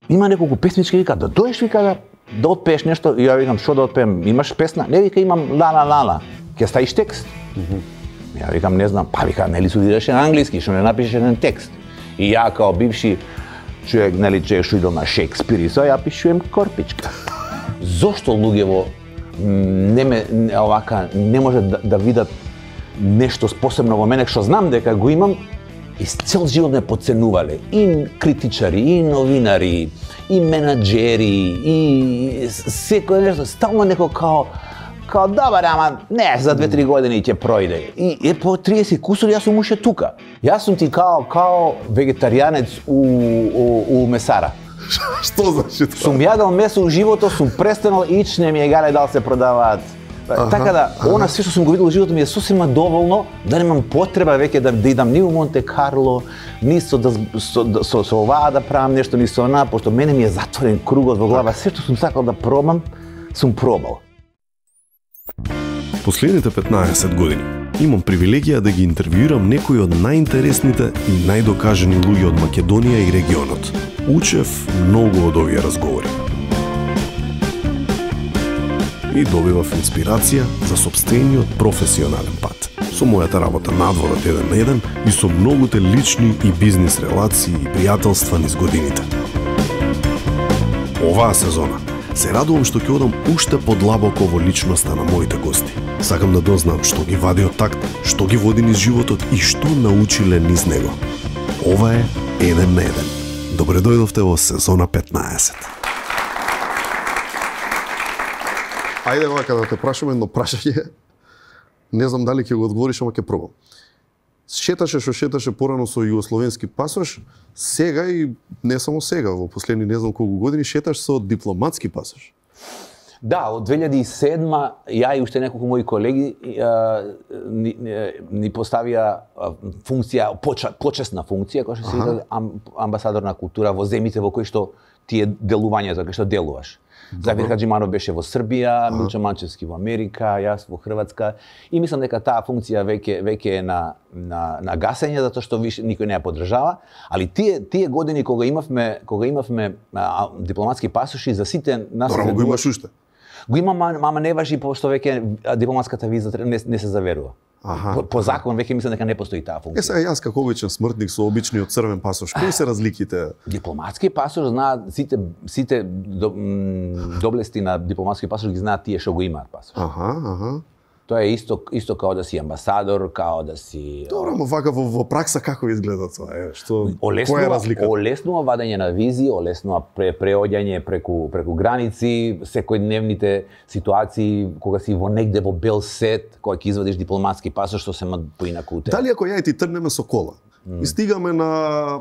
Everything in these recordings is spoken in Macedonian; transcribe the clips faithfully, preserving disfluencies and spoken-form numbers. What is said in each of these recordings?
има неколку песнички, вика, да доеш, вика, да, да отпееш нешто, и ја викам, што да отпеем, имаш песна? Не, вика, имам лана лана, ќе ставиш текст. Mm -hmm. Ја викам, не знам, па вика, нели студираше на англиски, што не напишеш еден текст. И ја као бивши човек, нели, човек што идол на Шекспир и со, ја пишувам Корпичка. Зошто луѓево не ме, овака, не може да, да видат нешто посебно во мене, што знам дека го имам, и цел живот ме подценувале. И критичари, и новинари, и менаџери, и секој нешто, стално неко као, као добар, ама не, за две-три години ќе пројде. И е по триесет кусури јас сум уште тука. Јас сум ти као као вегетаријанец у, у, у месара. Што значи тоа? Сум јадел месо у животот, сум престанал ич, не ми е гале дали се продаваат. Аха, така да, аха. Она све што сум го видел во животот ми е сосема доволно да немам потреба веќе да, да идам ни у Монте Карло, ни со, да, со, со, со оваа да правам нешто, ни со она, пошто мене ми е затворен кругот во глава. Све што сум сакал да пробам, сум пробал. Последните петнаесет години имам привилегија да ги интервјуирам некои од најинтересните и најдокажани луѓе од Македонија и регионот. Учев многу од овие разговори. И добивав инспирација за сопствениот професионален пат. Со мојата работа надвор од еден на еден и со многуте лични и бизнис релации и пријателства низ годините. Оваа сезона се радувам што ќе одам уште подлабоко во личноста на моите гости. Сакам да дознам што ги вади од такт, што ги води низ животот и што научиле низ него. Ова е Еден на еден. Добре дојдовте во сезона петнаесет. Ајде вака да те прашам едно прашање. Не знам дали ќе го одговориш, ама ќе пробам. Шеташе што шеташе порано со југословенски пасош, сега и не само сега, во последни не знам колку години шеташ со дипломатски пасош. Да, од две илјади и седма ја и уште неколку мои колеги а, ни, ни поставија функција, поча, почесна функција, која што се вика амбасадор на култура во земјите во кои што ти е делувањето, кои што делуваш. Завир Хаџиманов беше во Србија, Милчо Манчевски во Америка, јас во Хрватска, и мислам дека таа функција веќе веќе е на на на гасење, затоа што више никој не ја поддржава, али тие тие години кога имавме кога имавме а, дипломатски пасоши за сите нас. Добро, го имаш уште. Го имам, ама не важи пошто веќе дипломатската виза не, не се заверува. Аха, по, по закон веќе мислам дека не постои таа функција. Е сега јас како обичен смртник со обичниот црвен пасош, кои се разликите? Дипломатски пасош знаат сите сите до, доблести на дипломатски пасош ги знаат тие што го имаат пасош. Аха, аха. Тоа е исто исто као да си амбасадор, као да си. Добро, ама вака во, во пракса како изгледа тоа? Е, што олеснува, која е разликата? Олеснува вадење на визи, олеснува пре, преоѓање преку преку граници, секојдневните ситуации кога си во негде во бел сет, кога ќе извадиш дипломатски пасош, што се ма поинаку те. Дали ако ја и ти тргнеме со кола mm. и стигаме на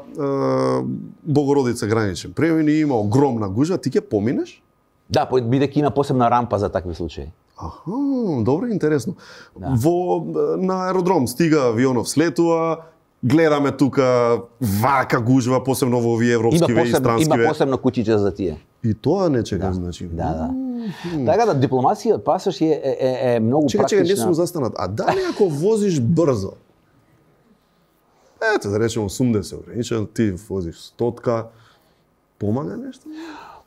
е, Богородица граничен премин и има огромна гужва, ти ќе поминеш? Да, бидејќи има посебна рампа за такви случаи. Аха, добро, интересно. Да. Во на аеродром стига авионов, слетува, гледаме тука вака гужва, посебно во овие европски ве и странски ве. Има посебно куќиче за тие. И тоа не чекам, да. значи. Да, да. Mm-hmm. Така да дипломацијата пасош е е, е, е многу чека, практична. Чека, чека, не сум застанат. А дали ако возиш брзо? Ето да речеме осумдесет ограничен, ти возиш стотка, помага нешто?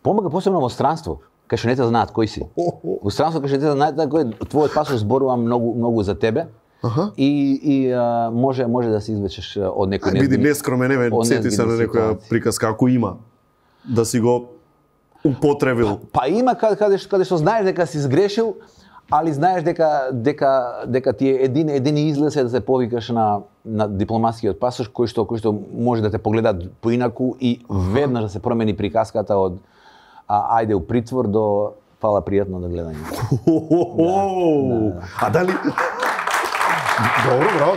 Помага посебно во странство. Кај што не те знаат кој си. Во странство кај што не те знаат кој твојот пасош зборува многу многу за тебе. Аха. И и а, може може да се извлечеш од некој не. Биди нескромен, еве сети се на некоја приказка ако има да си го употребил. Па, па има каде каде што, каде што знаеш дека си сгрешил, али знаеш дека дека дека ти е един един излез е да се повикаш на на дипломатскиот пасош кој што кој што може да те погледаат поинаку и веднаш да се промени приказката од а ајде у притвор до фала пријатно да гледање. Да. А дали добро, браво.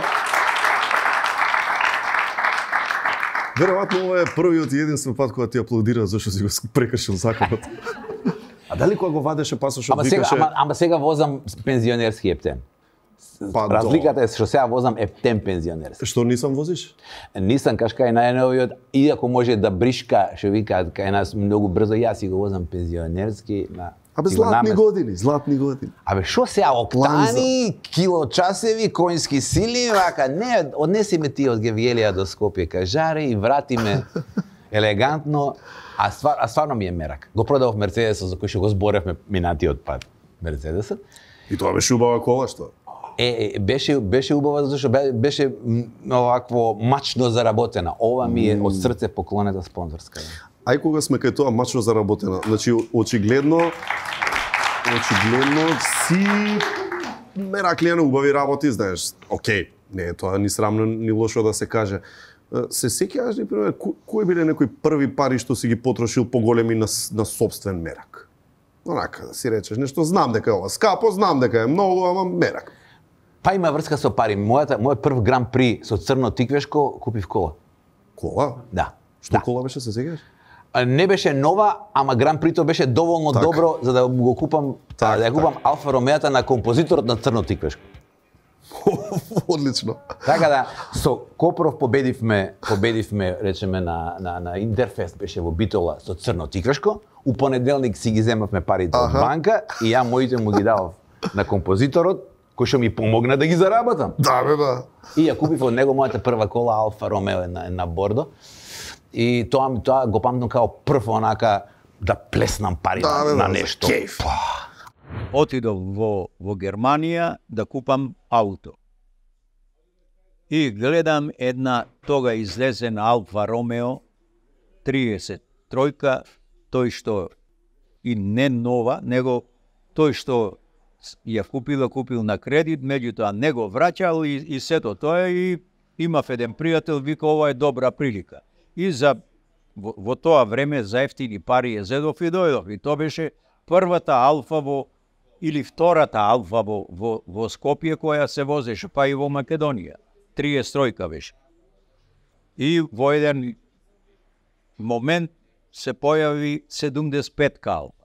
Веројатно ова е првиот и единствен пат кога ти аплодира зашто си го прекршил законот. А дали кога го вадеше пасошот ама викаше? Сега, ама, ама сега возам пензионерски ептен. Па, разликата е што сега возам ептен пензионерски. Што нисам возиш? Нисам каш кај најновиот, иако може да бришка, што викаат кај нас многу брзо, јас си го возам пензионерски на. Абе златни намес... години, златни години. Абе шо сега октани, килочасеви, коњски сили, вака не, однеси ме ти од Гевјелија до Скопје кај Жаре и врати ме. елегантно, а, ствар, а стварно ми е мерак. Го продавав Мерцедесот за кој што го зборевме минатиот пат. Мерцедесот. И тоа беше убава кола, што? Е, е беше беше убава зашто беше овакво мачно заработена. Ова ми е од срце поклонета спонзорска. Ај кога сме кај тоа мачно заработена, значи очигледно очигледно си мераклија на убави работи, знаеш. Океј, не е тоа ни срамно ни лошо да се каже. Се сеќаваш ни пример кои биле некои први пари што си ги потрошил поголеми на на сопствен мерак? Онака да си речеш нешто, знам дека е ова скапо, знам дека е многу, ама мерак. Па има врска со пари. Мојата мојот прв гран при со црно тиквешко купив кола. Кола? Да. Што да. кола беше, се сеќаваш? Не беше нова, ама гран прито беше доволно так. добро за да го купам, так, да ја купам так. Алфа Ромеата на композиторот на црно тиквешко. Одлично. Така да со Копров победивме, победивме речеме на на на Интерфест беше во Битола со црно тиквешко. У понеделник си ги земавме парите од банка и ја моите му ги давав на композиторот кој што ми помогна да ги заработам. Да бе, да. И ја купив од него мојата прва кола Алфа Ромео на на бордо. И тоа тоа го памтам као прв онака да плеснам пари да, бе, на да, нешто. Кеф. Отидов во, во Германија да купам ауто. И гледам една тога излезена Алфа Ромео триесет тројка, тој што и не нова, него тој што ја купил, купил на кредит, меѓутоа не го враќал и, и сето тоа и имав еден пријател, вика ова е добра прилика. И за во, во тоа време за ефтини пари ја зедов и дојдов. И тоа беше првата Алфа во или втората Алфа во, во, во Скопје која се возеше, па и во Македонија. триесет тројка беше. И во еден момент се појави седумдесет петка Алфа.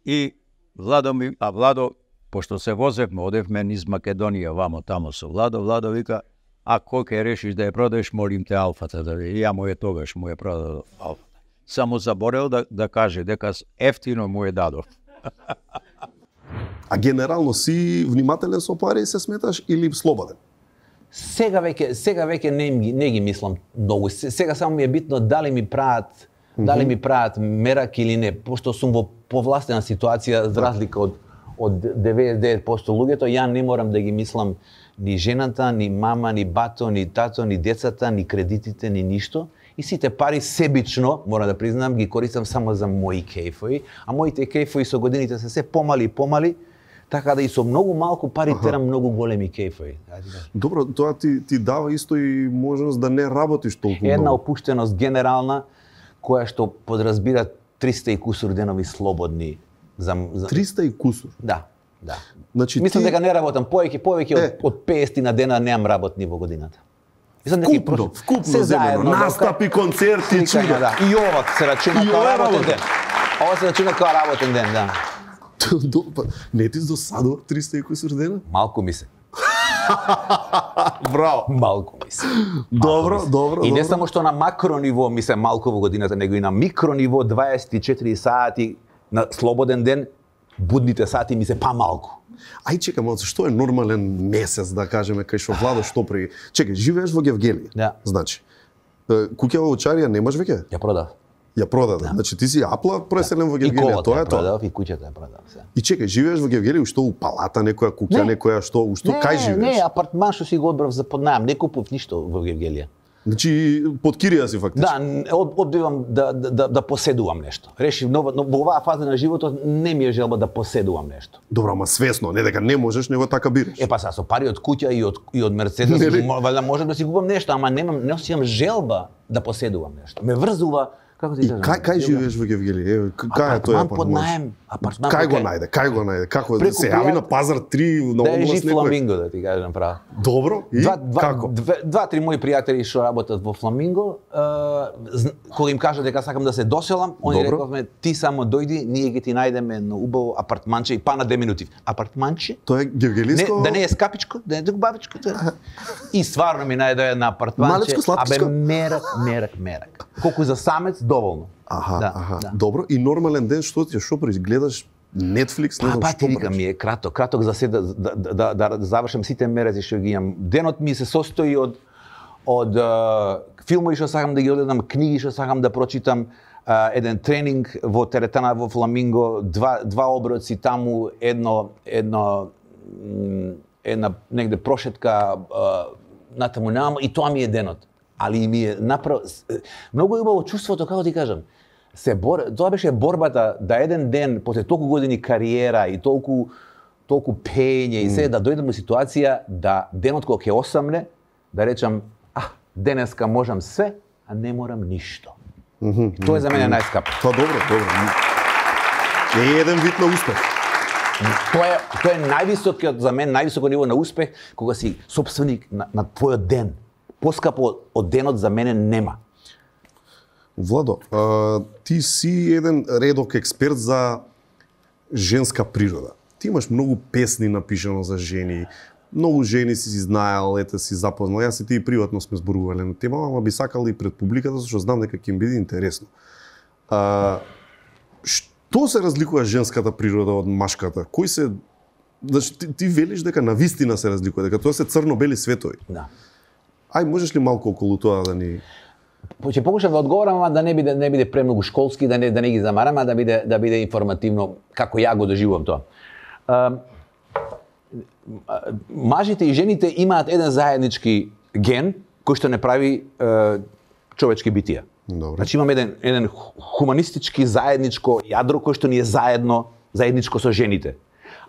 И Владо ми, а Владо, пошто се возевме, одевме низ Македонија, вамо тамо со Владо, Владо вика, а кој ќе решиш да ја продадеш, молим те Алфата, да и ја му е тогаш му е продадов Алфата. Само заборел да, да каже дека ефтино му е дадов. А генерално си внимателен со пари и се сметаш или слободен? Сега веќе сега веќе не, не ги мислам многу. Сега само ми е битно дали ми прават mm-hmm. дали ми прават мерак или не, пошто сум во повластена ситуација за разлика од од деветдесет и девет проценти луѓето, ја не морам да ги мислам ни жената, ни мама, ни бато, ни тато, ни децата, ни кредитите, ни ништо. И сите пари себично, мора да признам, ги користам само за мои кејфови, а моите кејфови со годините се се помали и помали, така да и со многу малку пари терам многу големи кејфови. Добро, тоа ти ти дава исто и можност да не работиш толку Една многу. опуштеност генерална која што подразбира триста и кусур денови слободни за, за... триста и кусур. Да, да. Значи Мислам ти... дека не работам повеќе, повеќе е. од, од петдесет на дена немам работни во годината. Мислам дека Вкупно, вкупно се заедно, настапи, концерти, чуда. Да. И ова се рачуна И као ова е работен работа. ден. Ова се рачуна као работен ден, да. Не ти досадува триста и кусур дена? Малку ми се. Браво. Малку ми се. Добро, добро, И не добро. само што на макро ниво ми се малку во годината, него и на микро ниво дваесет и четири сати на слободен ден, будните сати ми се па малку. Ај чекам, што е нормален месец, да кажеме, кај што Владо што при... Чекај, живееш во Гевгелија. Да. Значи, куќа во Овчарија немаш веќе? Ја продав. Ја продаде. Значи ти си апла преселен во И Гевгелија, колата тоа ја е тоа. продав, и куќата ја продав. Се. И чекај, живееш во Гевгелија, што у палата некоја куќа, Не. некоја што, у што Не, кај живееш? Не, апартман што си го одбрав за под најам, не купив ништо во Гевгелија. Значи под кирија си фактички. Да, од, одбивам да, да, да, да поседувам нешто. Решив, но, но во оваа фаза на животот не ми е желба да поседувам нешто. Добро, ама свесно, не дека не можеш, него така бираш. Е па са со пари од куќа и од и од Мерцедес, Нели? валјда можам да си купам нешто, ама немам не осеќам желба да поседувам нешто. Ме врзува, како ти И кажам? кај кај желба. живееш во Гевгелија? Е, к- кај е тој Апартман под апартман? наем, апартман Кај под го наем. најде? Кај го најде? Како Преку се јави пријат- на пазар три на Да е област жив некој? Фламинго, да ти кажам право. Добро, и Два, два, како? Две, два, три мои пријатели што работат во Фламинго, е, зн- кога им кажа дека сакам да се доселам, они Добро. рековме ти само дојди, ние ќе ти најдеме едно убаво апартманче и па на две минути. Апартманче? Тоа е Не, гевгелиско? да не е скапичко, да е бабичко. Да. И стварно ми најде една апартманче. Малечко, сладкичко? Абе мерак, мерак, мерак. Колку за самец доволно. Аха, да, аха. да. Добро, и нормален ден што ти што правиш? Гледаш Netflix, не Па, знам па што ти вика правиш? ми е краток, краток за се да, да, да, да, да завршам сите мерези што ги имам. Денот ми се состои од од филмови што сакам да ги одгледам, книги што сакам да прочитам, еден тренинг во теретана во Фламинго, два два оброци таму, едно едно една негде прошетка натаму наму и тоа ми е денот. Али ми е направо многу убаво чувството, како ти кажам. Се бор, тоа беше борбата да еден ден после толку години кариера и толку толку пење и се да дојдам во ситуација да денот кога ќе осамне да речам а денеска можам се, а не морам ништо. Mm -hmm. Тоа е за мене најскапо. Тоа добро, добро. Е еден вид на успех. Тоа е тоа е највисокиот за мен највисоко ниво на успех кога си сопственик на, на твојот ден. Поскапо од денот за мене нема. Владо, а, ти си еден редок експерт за женска природа. Ти имаш многу песни напишано за жени, многу жени си знаел, ете си запознал. Јас и ти приватно сме зборувале на тема, ама би сакал и пред публиката, зашто знам дека ќе им биде интересно. А, што се разликува женската природа од машката? Кој се Значи ти, ти велиш дека навистина се разликува, дека тоа се црно-бели светови. Да. Ај можеш ли малку околу тоа да ни Ќе покушам да одговорам, ама да не биде не биде премногу школски, да не да не ги замарам, а да биде да биде информативно како ја го доживувам тоа. А, мажите и жените имаат еден заеднички ген кој што не прави е, човечки битија. Добре. Значи имаме еден еден хуманистички заедничко јадро кој што ни е заедно, заедничко со жените.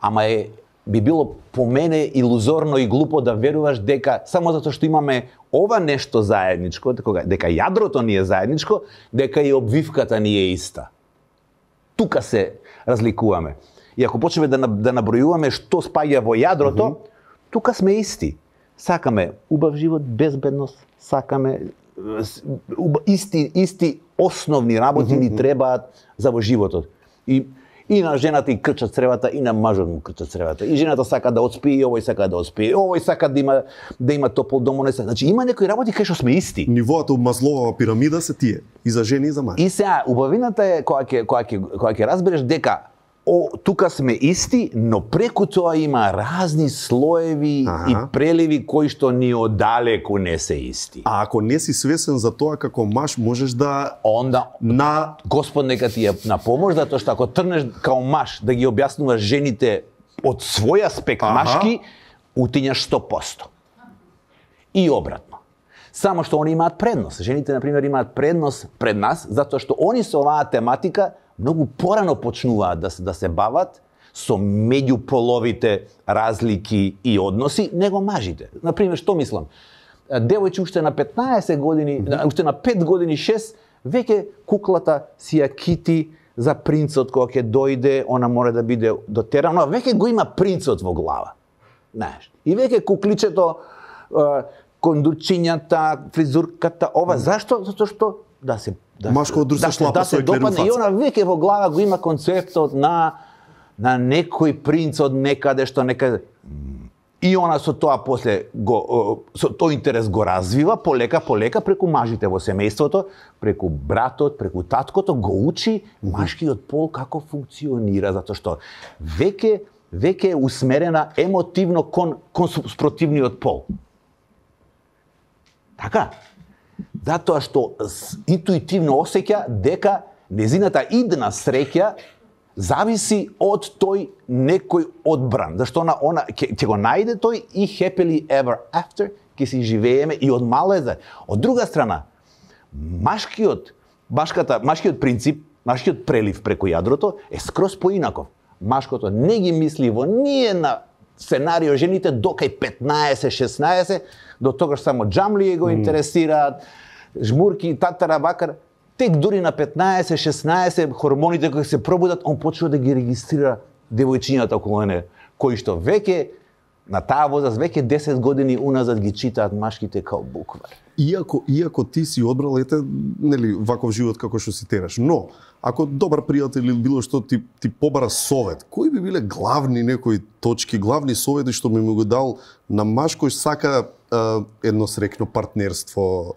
Ама е би било по мене илузорно и глупо да веруваш дека само затоа што имаме ова нешто заедничко, дека, дека јадрото ни е заедничко, дека и обвивката ни е иста. Тука се разликуваме. И ако почнеме да, да набројуваме што спаѓа во јадрото, mm -hmm. тука сме исти. Сакаме убав живот, безбедност, сакаме исти исти основни работи mm -hmm. ни требаат за во животот. И И на жената и крчат цревата, и на мажот му крчат цревата. И жената сака да отспи, и овој сака да отспи, и овој сака да има да има топол дом, не сака. Значи има некои работи кај што сме исти. Нивоата од Масловова пирамида се тие, и за жени и за мажи. И сега убавината е кога ќе кога ќе кога ќе разбереш дека о, тука сме исти, но преку тоа има разни слоеви ага. и преливи кои што ни одалеку не се исти. А ако не си свесен за тоа како маж, можеш да онда на Господ нека ти е на помош, затоа што ако трнеш као маж да ги објаснуваш жените од свој аспект ага. машки, утињаш сто посто. И обратно. Само што они имаат предност. Жените на пример имаат предност пред нас затоа што они со оваа тематика многу порано почнуваат да се, да се бават со меѓуполовите разлики и односи, него мажите. Например, што мислам? Девојче уште на петнаесет години, mm -hmm. уште на пет години, шест, веќе куклата си ја кити за принцот кога ќе дојде, она мора да биде дотерана, веќе го има принцот во глава. Знаеш. И веќе кукличето, кондучињата, фризурката, ова, зашто? Затоа што да се да Машко од друга шлапа да се допадне и она веќе во глава го има концептот на на некој принц од некаде што некаде и она со тоа после го со тој интерес го развива полека полека преку мажите во семејството, преку братот, преку таткото го учи машкиот пол како функционира затоа што веќе веќе е усмерена емотивно кон кон спротивниот пол. Така. Затоа што интуитивно осеќа дека незината идна среќа зависи од тој некој одбран. Зашто она, она ќе, ќе го најде тој и happily ever after, ќе си живееме и од мало е. Од друга страна, машкиот, машката, машкиот принцип, машкиот прелив преку јадрото е скроз поинаков. Машкото не ги мисли во ниедна сценарио жените до кај петнаесет шеснаесет, до тогаш само џамлии го интересираат, жмурки, татара, бакар. Тек дури на петнаесет шеснаесет хормоните кои се пробудат, он почува да ги регистрира девојчињата околу неа, кои што веќе на таа возраст веќе десет години уназад ги читаат машките као буквар. Иако иако ти си одбрал ете нели ваков живот како што си тераш, но ако добар пријател или било што ти ти побара совет, кои би биле главни некои точки, главни совети што би му го дал на маж кој сака е, едно среќно партнерство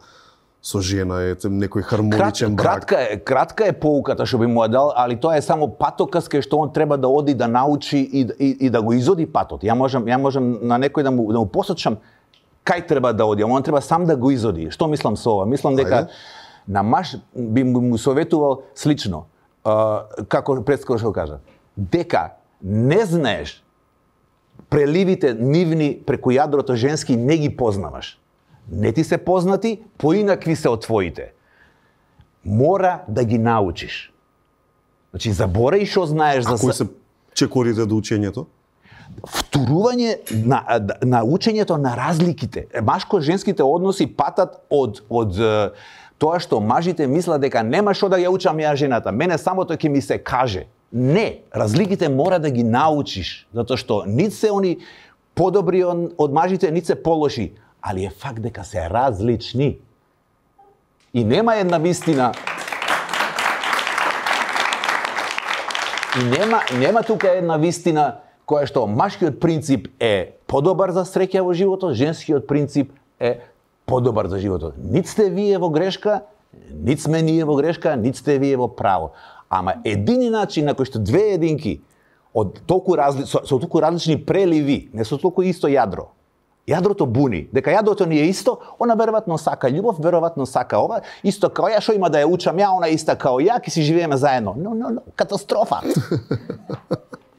со жена, ете некој хармоничен брак? Кратка е, кратка е поуката што би му ја дал, али тоа е само патокас кај што он треба да оди да научи и, и, и да го изоди патот. Ја можам ја можам на некој да му да му посочам кај треба да оди, он треба сам да го изоди. Што мислам со ова? Мислам дека Ајде. на маш би му советувал слично, а, како предскоро што кажа, дека не знаеш преливите нивни преку јадрото женски не ги познаваш. Не ти се познати, поинакви се од твоите. Мора да ги научиш. Значи, заборај што знаеш за... А кои се чекорите до учењето? Втурување на, на учењето на разликите. Машко-женските односи патат од, од е, тоа што мажите мислат дека нема што да ја учам ја жената. Мене само тоа ќе ми се каже. Не, разликите мора да ги научиш, затоа што нит се они подобри од мажите, нит се полоши, али е факт дека се различни. И нема една вистина. И нема нема тука една вистина која што машкиот принцип е подобар за среќа во животот, женскиот принцип е подобар за животот. Нит сте вие во грешка, нит сме ние во грешка, нит сте вие во право. Ама едини начин на кој што две единки од толку разли, со, со толку различни преливи, не со толку исто јадро. Јадрото буни, дека јадрото ни е исто, она веројатно сака љубов, веројатно сака ова, исто као ја, што има да ја учам ја, она иста као ја, ќе си живееме заедно. Но, но, но, катастрофа.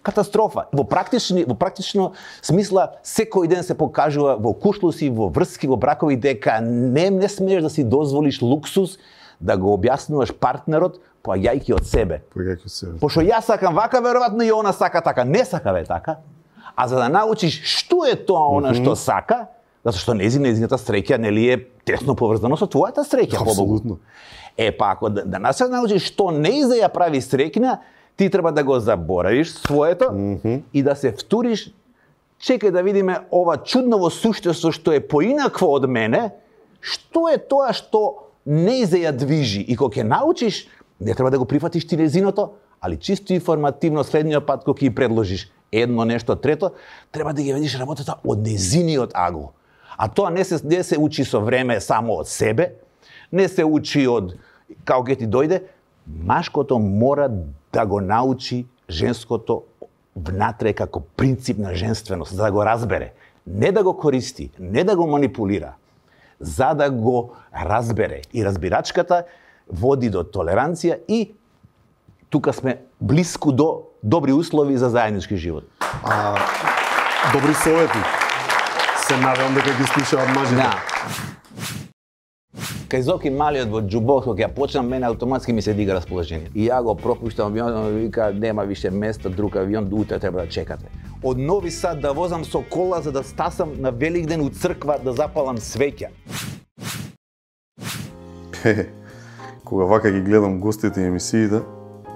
Катастрофа. Во практични, во практично смисла секој ден се покажува во кушлуси, во врски, во бракови дека не не смееш да си дозволиш луксус да го објаснуваш партнерот поаѓајќи од себе. Поаѓајќи од себе. Пошто јас сакам вака, веројатно и она сака така. Не сака бе така. А за да научиш што е тоа она што сака, затоа што нези незината среќа нели е тесно поврзано со твојата среќа, Апсолутно. Е па ако да, да се научиш што нези ја прави среќна, ти треба да го заборавиш своето mm -hmm. и да се втуриш, чекај да видиме ова чудново суштество што е поинакво од мене, што е тоа што нези ја движи. И кога ќе научиш, не треба да го прифатиш ти незиното, али чисто информативно следниот пат кога ќе предложиш едно нешто трето, треба да ги видиш работата од незиниот агл. А тоа не се не се учи со време само од себе, не се учи од како ќе ти дојде, машкото мора да го научи женското внатре како принцип на женственост, за да го разбере, не да го користи, не да го манипулира, за да го разбере. И разбирачката води до толеранција и тука сме блиску до добри услови за заеднички живот. А, добри совети. Се надевам дека ги слушаат мажите. Да. Кај Зоки малиот во џубок, кога ја почнам, мене автоматски ми се дига расположение. И ја го пропуштам авионот, вика нема више место, друг авион, утре треба да чекате. Од Нови Сад да возам со кола за да стасам на Великден у црква да запалам свеќа. Кога вака ги гледам гостите и емисиите,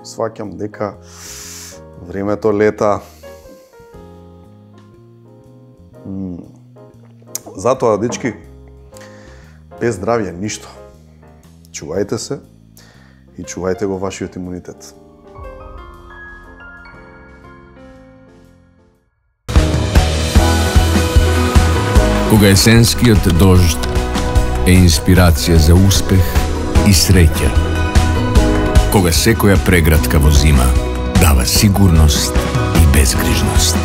сваќам дека времето лета. М. Затоа, дечки, без здравје ништо. Чувајте се и чувајте го вашиот имунитет. Кога есенскиот дожд е инспирација за успех и среќа. Кога секоја преградка во зима дава сигурност и безгрижност.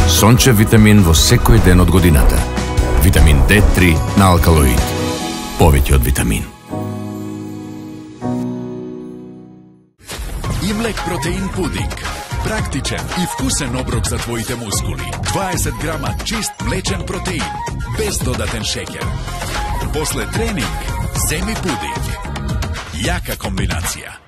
Сончев витамин во секој ден од годината. Витамин Д три на алкалоид. Повеќе од витамин. Имлек протеин пудинг. Практичен и вкусен оброк за твоите мускули. дваесет грама чист млечен протеин, без додатен шеќер. После тренинг, земи пудинг. Јака комбинација.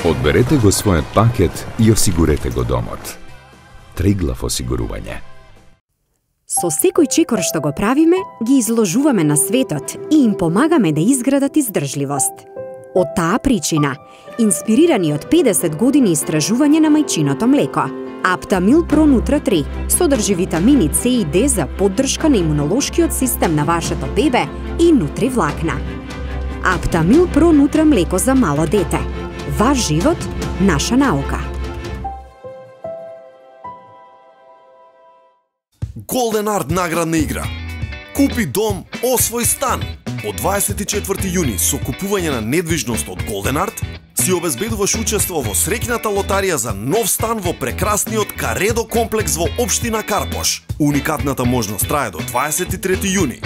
Одберете го својот пакет и осигурете го домот. Триглав осигурување. Со секој чекор што го правиме, ги изложуваме на светот и им помагаме да изградат издржливост. Од таа причина, инспирирани од педесет години истражување на мајчиното млеко, Аптамил Про Нутра три содржи витамини С и Д за поддршка на имунолошкиот систем на вашето бебе и нутри влакна. Аптамил Про Нутра млеко за мало дете. Ваш живот, наша наука. Golden Art наградна игра. Купи дом, освој стан. Од дваесет и четврти јуни со купување на недвижност од Golden Art, си обезбедуваш учество во среќната лотарија за нов стан во прекрасниот Каредо комплекс во општина Карпош. Уникатната можност трае до дваесет и трети јуни.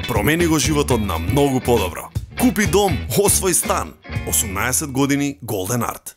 Промени го животот на многу подобро. Купи дом, освој стан. осумнаесет години Golden Art.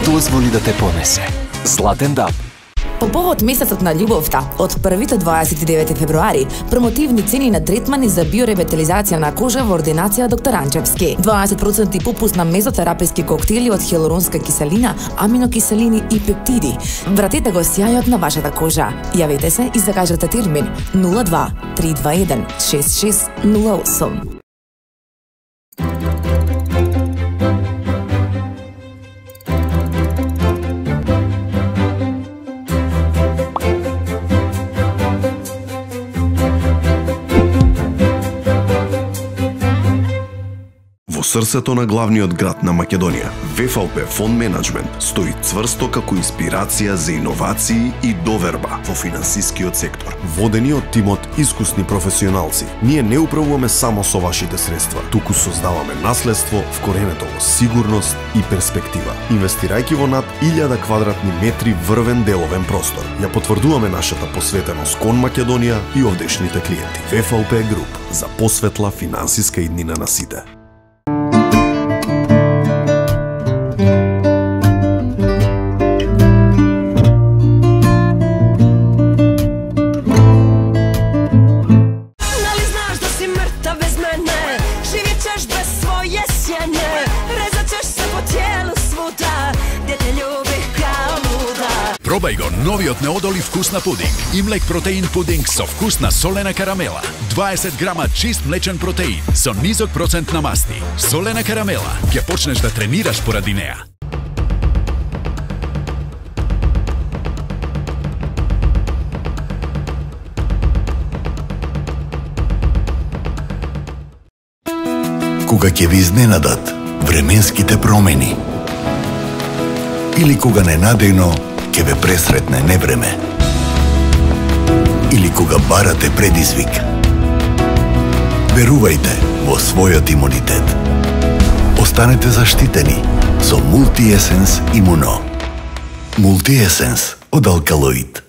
Дозволи да те понесе. Златен даб. По повод месецот на љубовта, од први до дваесет и девети февруари, промотивни цени на третмани за биоревитализација на кожа во ординација доктор Анчевски. дваесет проценти попуст на мезотераписки коктели од хиалуронска киселина, аминокиселини и пептиди. Вратете го сјајот на вашата кожа. Јавете се и закажете термин нула два три два еден шест шест нула осум. Во срцето на главниот град на Македонија, В Ф Л П Фонд Менеджмент стои цврсто како инспирација за иновации и доверба во финансискиот сектор. Водени од тимот искусни професионалци, ние не управуваме само со вашите средства, туку создаваме наследство вкоренето во сигурност и перспектива. Инвестирајќи во над илјада квадратни метри врвен деловен простор, ја потврдуваме нашата посветеност кон Македонија и овдешните клиенти. В Ф Л П Груп, за посветла финансиска иднина на сите. Пробај го новиот неодолив вкус на пудинг. Имлек протеин пудинг со вкус на солена карамела. дваесет грама чист млечен протеин со низок процент на масти. Солена карамела, ќе почнеш да тренираш поради неа. Кога ќе ви изненадат временските промени или кога ненадејно ќе ве пресретне невреме или кога барате предизвик, верувајте во својот имунитет. Останете заштитени со Multi-Essence Immuno. Multi-Essence од алкалоид.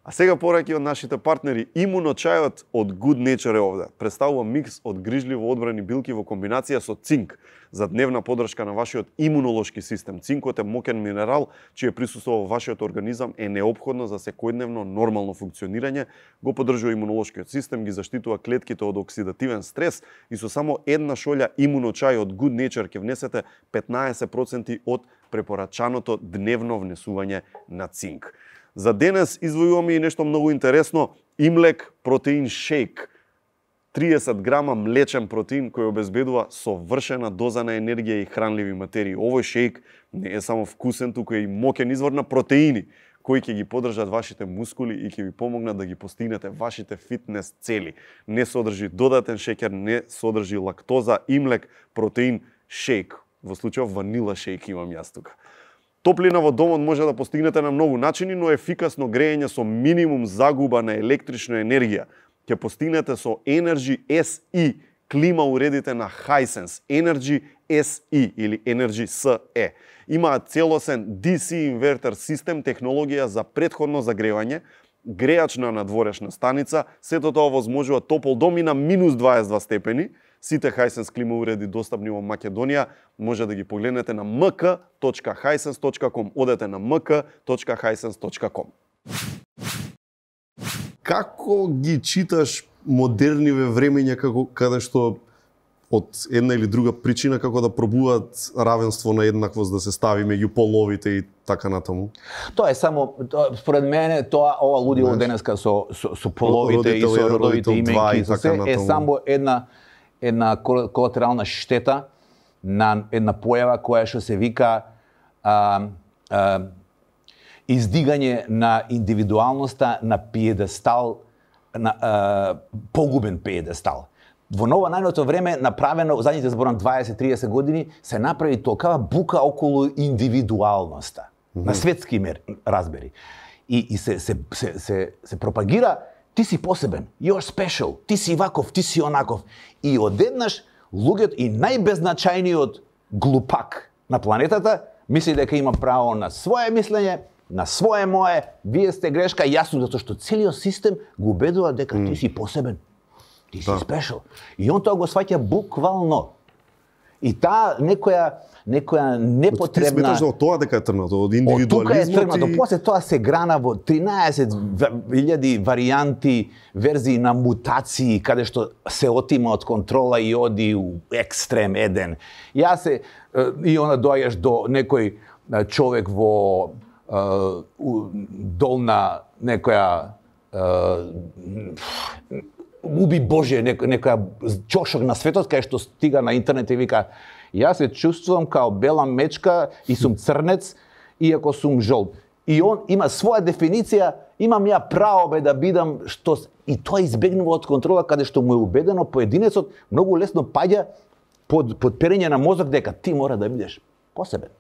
А сега пораки од нашите партнери, Имуно чајот од Good Nature е овде. Представува микс од грижливо одбрани билки во комбинација со цинк за дневна поддршка на вашиот имунолошки систем. Цинкот е мокен минерал, чие присуство во вашиот организам е неопходно за секојдневно нормално функционирање, го поддржува имунолошкиот систем, ги заштитува клетките од оксидативен стрес и со само една шолја Имуно чај од Good Nature ќе внесете петнаесет проценти од препорачаното дневно внесување на цинк. За денес извојуваме и нешто многу интересно, Имлек протеин шейк. триесет грама млечен протеин кој обезбедува совршена доза на енергија и хранливи материи. Овој шейк не е само вкусен, туку е и мокен извор на протеини, кои ќе ги поддржат вашите мускули и ќе ви помогнат да ги постигнете вашите фитнес цели. Не содржи додатен шеќер, не содржи лактоза. Имлек протеин шейк. Во случајов ванила шейк имам јас тука. Топлина во домот може да постигнете на многу начини, но ефикасно грејење со минимум загуба на електрична енергија ќе постигнете со Energy С И, клима уредите на Hisense. Energy С И или Energy С Е. Имаат целосен Ди Си инвертер систем, технологија за претходно загревање, грејач на надворешна станица, сето тоа возможува топол дом и на минус дваесет и два степени. Сите Hisense клима уреди достапни во Македонија може да ги погледнете на ем ка точка hisense точка ком. Одете на ем ка точка hisense точка ком. Како ги читаш модерниве времења како каде што од една или друга причина како да пробуваат равенство на еднаквост да се стави меѓу половите и така натаму? Тоа е само, тоа, според мене, тоа ова лудило денеска со, со, со половите и со родовите именки, и со се, е само една една колатерална штета на една појава која што се вика а, а, издигање на индивидуалноста на пиедестал, на а, погубен пиедестал. Во ново најното време направено, задните зборам дваесет до триесет години, се направи толкава бука околу индивидуалноста. Mm-hmm. На светски мер, разбери. И, и се, се, се, се, се пропагира, ти си посебен, you're special, ти си ваков, ти си онаков. И одеднаш луѓето и најбезначајниот глупак на планетата мисли дека има право на свое мислење, на свое мое, вие сте грешка, јасно, затоа што целиот систем го убедува дека mm. ти си посебен. Ти си да. Спешал. И он тоа го сваќа буквално. И таа некоја некоја непотребна... Ти сметаш од тоа дека е тргнато, од индивидуализмот? Од тука е тргнато, и... после тоа се грана во тринаесет илјади варијанти, верзии на мутации, каде што се отима од контрола и оди у екстрем еден. Ја се, и она доаѓаш до некој човек во долна некоја уби Боже, некоја чошок на светот, кај што стига на интернет и вика јас се чувствувам као бела мечка и сум црнец, иако сум жолт. И он има своја дефиниција, имам ја право бе да бидам што... И тоа избегнува од контрола, каде што му е убедено поединецот, многу лесно паѓа под, под перење на мозок дека ти мора да бидеш посебен.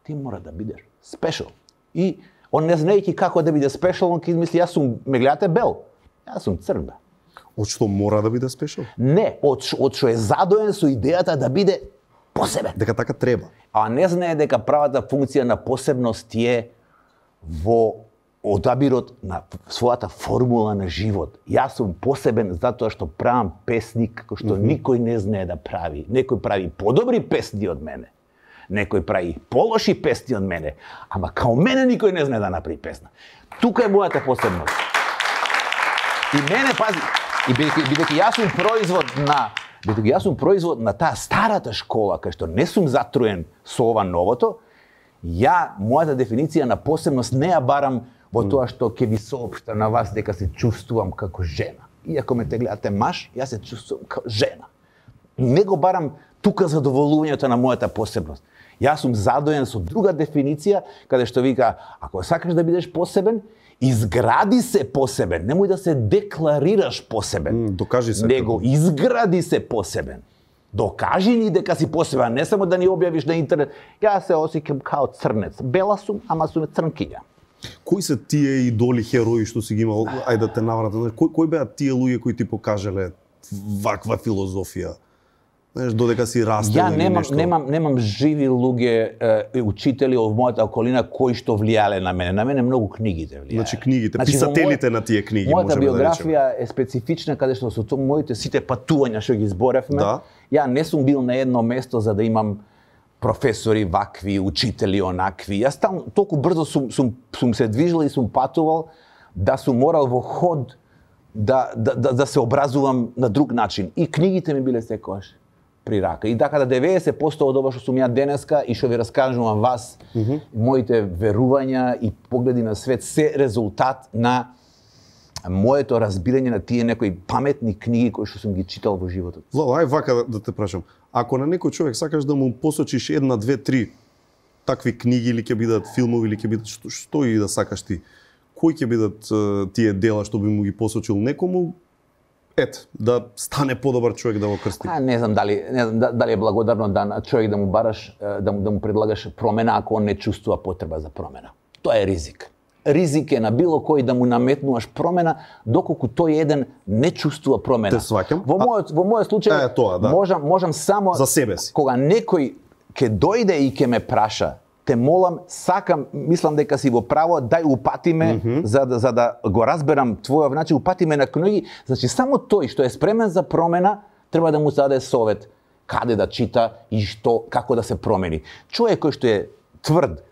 Ти мора да бидеш спешал. И он не знаејќи како да биде спешал, он ки мисли, јас сум, ме гледате бел, јас сум црн бе. Од што мора да биде спешал? Не, од, од што е задоен со идејата да биде посебен. Дека така треба. А не знае дека правата функција на посебност е во одабирот на својата формула на живот. Јас сум посебен затоа што правам песни како што mm-hmm. никој не знае да прави. Некој прави подобри песни од мене. Некој прави полоши песни од мене. Ама као мене никој не знае да направи песна. Тука е мојата посебност. И мене, пази, и бидејќи јас сум производ на бидејќи јас сум производ на таа старата школа, кај што не сум затруен со ова новото, ја, мојата дефиниција на посебност не ја барам во тоа што ќе ви соопштам на вас дека се чувствувам како жена. Иако ме те гледате маж, јас се чувствувам како жена. Не го барам тука задоволувањето на мојата посебност. Јас сум задоен со друга дефиниција, каде што вика, ако сакаш да бидеш посебен, изгради се посебен, немој да се декларираш посебен. Mm, докажи се. Него изгради се посебен. Докажи ни дека си посебен, не само да ни објавиш на интернет. Јас се осеќам као црнец. Бела сум, ама сум црнкиња. Кои се тие идоли, херои што си ги имал? Ајде да те навратам. Кои, кои беа тие луѓе кои ти покажале ваква филозофија? Знаеш, додека си растел или немам, нешто? немам, немам живи луѓе, е, учители од мојата околина кои што влијале на мене. На мене многу книгите влијале. Значи книгите, значи, писателите мој, на тие книги, мојата можеме биографија да е специфична, каде што со моите сите патувања што ги зборевме, да. Ја не сум бил на едно место за да имам професори вакви, учители онакви. Јас там толку брзо сум, сум, сум се движил и сум патувал да сум морал во ход да, да, да, да се образувам на друг начин. И книгите ми биле секогаш при рака. И така да деветдесет проценти од ова што сум ја денеска и што ви раскажувам вас, mm-hmm. моите верувања и погледи на свет се резултат на моето разбирање на тие некои паметни книги кои што сум ги читал во животот. Владо, ај вака да, да те прашам. Ако на некој човек сакаш да му посочиш една, две, три такви книги или ќе бидат филмови или ќе бидат што, што и да сакаш ти, кои ќе бидат uh, тие дела што би му ги посочил некому? Ет, да стане подобар човек да го крсти. А, не знам дали не знам дали е благодарно да на човек да му бараш да му да му предлагаш промена ако он не чувствува потреба за промена. Тоа е ризик. Ризик е на било кој да му наметнуваш промена доколку тој еден не чувствува промена. Те сваќам. Во мојот во мојот случај е, тоа, да. можам можам само за себе си. Кога некој ќе дојде и ќе ме праша, те молам, сакам, мислам дека си во право, дај упати ме mm-hmm. за да за да го разберам твојот начин, упати ме на книги, значи само тој што е спремен за промена треба да му се даде совет каде да чита и што како да се промени. Човек кој што е тврд,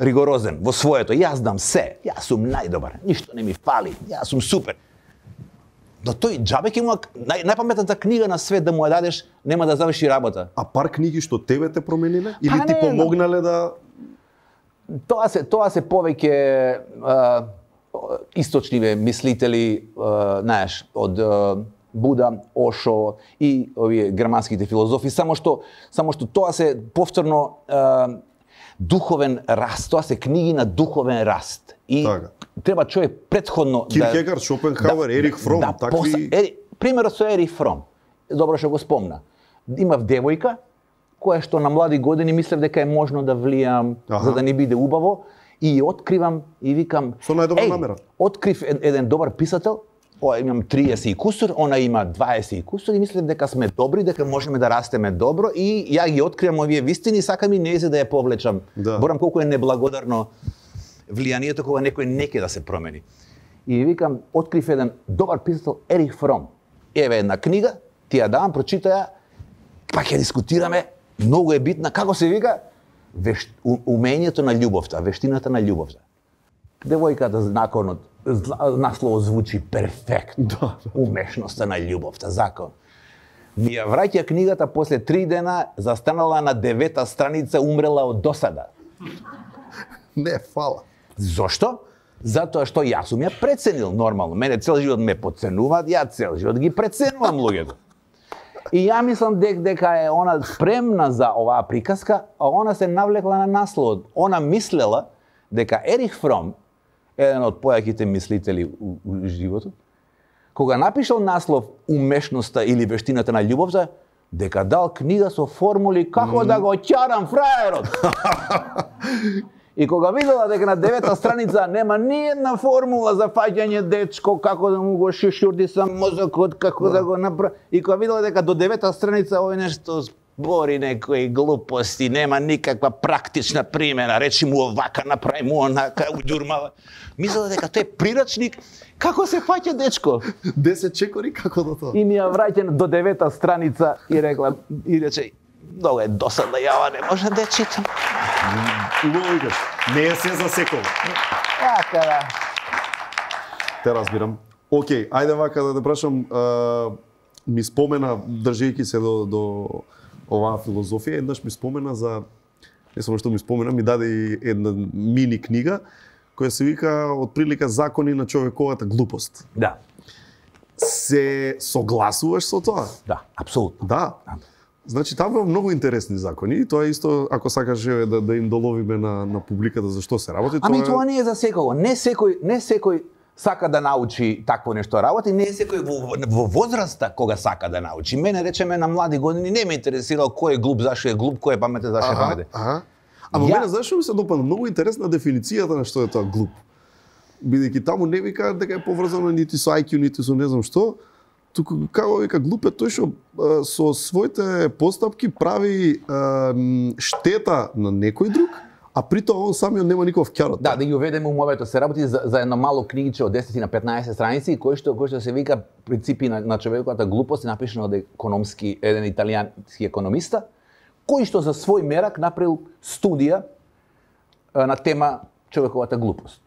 ригорозен во своето, јас дам се, јас сум најдобар, ништо не ми фали, јас сум супер. Но тој џабе ќе му нај, најпаметната книга на свет да му ја дадеш, нема да заврши работа. А пар книги што тебе те промениле или па, ти не, помогнале да Тоа се тоа се повеќе а, источни мислители, а, знаеш, од а, Буда, Ошо и овие германските филозофи, само што само што тоа се повторно е, духовен раст, тоа се книги на духовен раст. И така. Треба човек претходно Киркегар, да Шопенхауер, да, Ерих Фром, да, такви поса, ери, примерот со Ерих Фром. Добро што го спомна. Имав девојка која што на млади години мислев дека е можно да влијам аха, за да не биде убаво и ја откривам и викам со најдобра намера. Открив еден добар писател. О, имам триесет и кусур, она има дваесет и кусур и мислев дека сме добри, дека можеме да растеме добро и ја ги откривам овие вистини и сакам и нејзе да ја повлечам. Да. Борам колку е неблагодарно влијанието кога некој не ќе да се промени. И викам, открив еден добар писател Ерих Фром. Еве една книга, ти ја давам, прочитаја, па ќе дискутираме, многу е битна, како се вика? Веш... Умењето на љубовта, вештината на љубовта. Девојката законот, наслов звучи перфектно. Да. Умешноста на љубовта, закон. Ми ја враќа книгата после три дена, застанала на девета страница, умрела од досада. Не, фала. Зошто? Затоа што јас сум ја преценил нормално. Мене цел живот ме подценуваат, ја цел живот ги преценувам луѓето. И ја мислам дек, дека е она спремна за оваа приказка, а она се навлекла на насловот. Она мислела дека Ерих Фром, еден од појаките мислители у, у животот, кога напишал наслов Умешноста или вештината на љубовта, дека дал книга со формули како mm. да го ќарам фраерот. И кога видела дека на девета страница нема ни една формула за фаќање дечко, како да му го шишурди сам мозокот, како да, да го направи, и кога видела дека до девета страница овој нешто збори некои глупости, нема никаква практична примена, речи му овака, направи му онака, уѓурмава. Мислела дека тој е прирачник како се фаќа дечко. десет чекори како до тоа. И ми ја враќа до девета страница и рекла и рече многу е досадно, ја не можам да ја читам. Логикаш, не е се за секој. Така да. Те разбирам. Океј, ајде вака да те прашам, а, ми спомена, држејќи се до, до оваа филозофија, еднаш ми спомена за, не само што ми спомена, ми даде и една мини книга, која се вика отприлика Закони на човековата глупост. Да. Се согласуваш со тоа? Да, апсолутно. Да. Значи, таму има многу интересни закони и тоа исто, ако сакаш да, да им доловиме на, на публиката за што се работи, Ами тоа, тоа не е за секој. Не секој, не секој сака да научи такво нешто работи, не е секој во, во возраста кога сака да научи. Мене, речеме, на млади години не ме интересирало кој е глуп, зашо е глуп, кој е паметен, зашо е паметен. Ага. Ама Ја... мене зашо ми се допадна многу интересна дефиницијата на што е тоа глуп. Бидејќи таму не вика дека е поврзано нити со ај кју, нити со не знам што, туку како вика глуп е тој што со своите постапки прави а, штета на некој друг, а при тоа он самиот нема никаков ќар од тоа. Да, да ги уведеме умовето, се работи за, за едно мало книгиче од десет на петнаесет страници, кој што кој што се вика принципи на, на човековата глупост, напишано од економски еден италијански економиста, кој што за свој мерак направил студија а, на тема човековата глупост.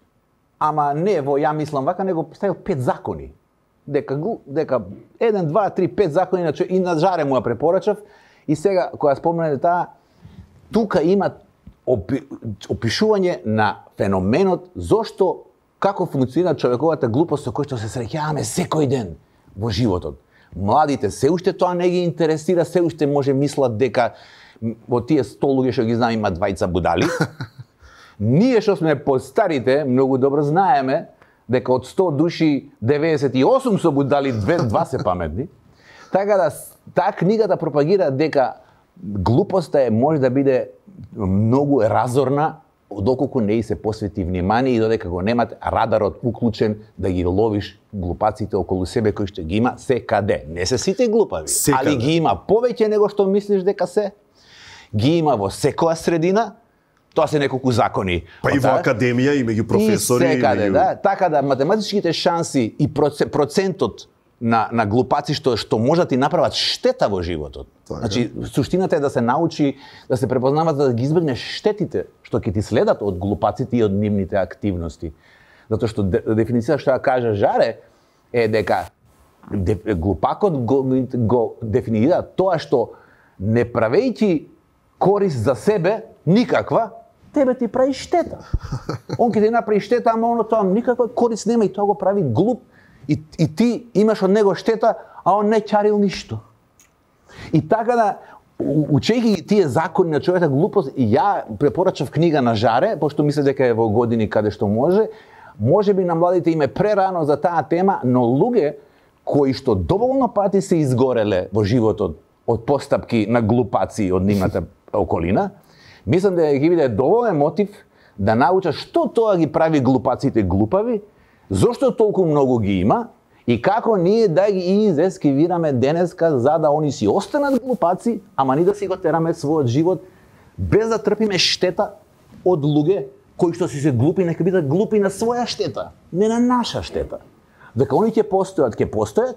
Ама не во ја мислам вака, него ставил пет закони. Дека дека еден, два, три, пет закони на и на жаре му ја препорачав и сега кога споменате таа, тука има опи, опишување на феноменот зошто како функционира човековата глупост со кој што се среќаваме секој ден во животот. Младите се уште тоа не ги интересира, се уште може мислат дека во тие сто луѓе што ги знам има двајца будали. Ние што сме постарите, многу добро знаеме дека од сто души деветдесет и осум со будали, две, два се паметни. Така да таа книгата пропагира дека глупоста е може да биде многу разорна доколку не и се посвети внимание и додека го немате радарот уклучен да ги ловиш глупаците околу себе кои што ги има секаде. Не се сите глупави, секаде. Али ги има повеќе него што мислиш дека се. Ги има во секоја средина. Тоа се неколку закони. Па и во академија и меѓу професори. И секаде, и меѓу... да. Така да математичките шанси и процентот на, на глупаци што што можат и направат штета во животот. Така. Значи, суштината е да се научи, да се препознават за да ги избегнеш штетите што ќе ти следат од глупаците и од нивните активности. Затоа што дефиницијата што ја кажа Жаре е дека глупакот го, го дефинира тоа што не правејќи корист за себе никаква, тебе ти прави штета. Он ќе ти направи штета, ама оно тоа никаква корист нема и тоа го прави глуп И, и ти имаш од него штета, а он не чарил ништо. И така да, учејќи ги тие закони на човека глупост, и ја препорачав книга на Жаре, пошто мисле дека е во години каде што може, може би на младите им е прерано за таа тема, но луѓе кои што доволно пати се изгореле во животот од постапки на глупаци од нивната околина, мислам да ги биде доволен мотив да научат што тоа ги прави глупаците глупави, зошто толку многу ги има и како ние да ги изескивираме денеска за да они си останат глупаци, ама ни да си го тераме својот живот без да трпиме штета од луѓе кои што си се глупи, нека бидат глупи на своја штета, не на наша штета. Дека они ќе постојат, ќе постојат,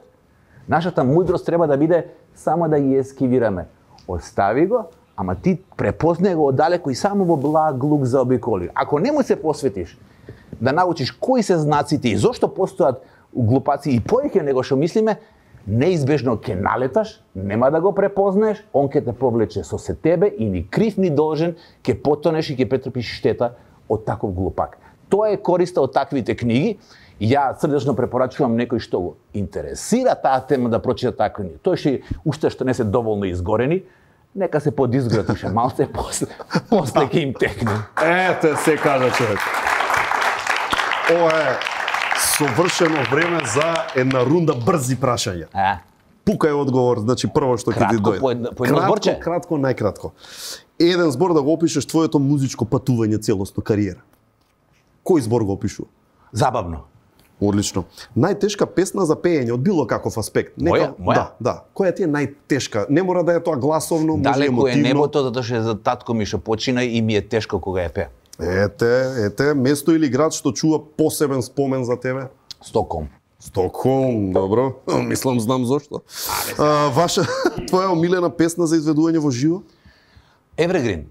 нашата мудрост треба да биде само да ги ескивираме. Остави го, ама ти препознај го оддалеку и само во благ лук заобиколи. Ако не му се посветиш да научиш кои се знаците и зошто постојат глупаци и повеќе него што мислиме, неизбежно ќе налеташ, нема да го препознаеш, он ќе те повлече со се тебе и ни крив ни должен, ќе потонеш и ќе претрпиш штета од таков глупак. Тоа е користа од таквите книги. Ја срдечно препорачувам некој што го интересира таа тема да прочита такви книги. Тој што уште што не се доволно изгорени, нека се подизгратише малце, после, после ќе им текне. Ете, се кажа човек. Ова е совршено време за една рунда брзи прашања. А? Пукај одговор, значи прво што ќе ти дојде. По едно, по едно зборче? Кратко, кратко, најкратко. Еден збор да го опишеш твоето музичко патување, целосно кариера. Кој збор го опишува? Забавно. Одлично. Најтешка песна за пеење од било каков аспект. Моја? Моја? Да, да. Која ти е најтешка? Не мора да е тоа гласовно, може Далеко емотивно. е небото, затоа што за татко ми што почина и ми е тешко кога ја пее. Ете, ете, место или град што чува посебен спомен за тебе? Стокхолм. Стокхолм, добро. Мислам, знам зошто. А, ваша, твоја омилена песна за изведување во живо? Evergreen.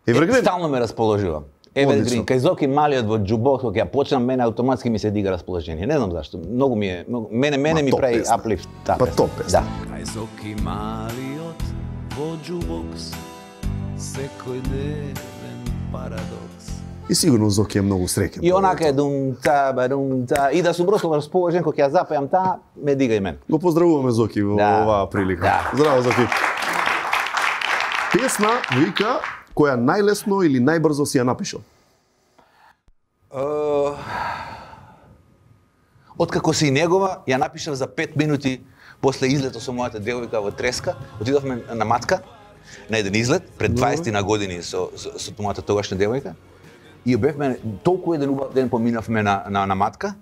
Evergreen? Е, стално ме расположува. Evergreen, кај Зоки малиот во джубокс, кога ја почнам, мене автоматски ми се дига расположение. Не знам зашто. Многу ми е, многу, мене мене Ма, ми топ прави песна. аплифт. Да, Па топ песна. Да. Кај Зоки малиот во джубокс, секој ден парадокс. И сигурно Зоки е многу среќен. И онака е дум та барум та и да сум броско расположен кога ќе ја запеам таа, ме дига и мен. Го поздравуваме Зоки во Да. оваа прилика. Да. Здраво, Зоки. Песна, вика, која најлесно или најбрзо си ја напишал? Uh, Откако си негова, ја напишав за пет минути после излето со мојата девојка во Треска. Отидовме на матка, на еден излет, пред дваесет на години со, со, со мојата тогашна девојка. И бевме, толку еден убав ден поминавме на, на, на матка.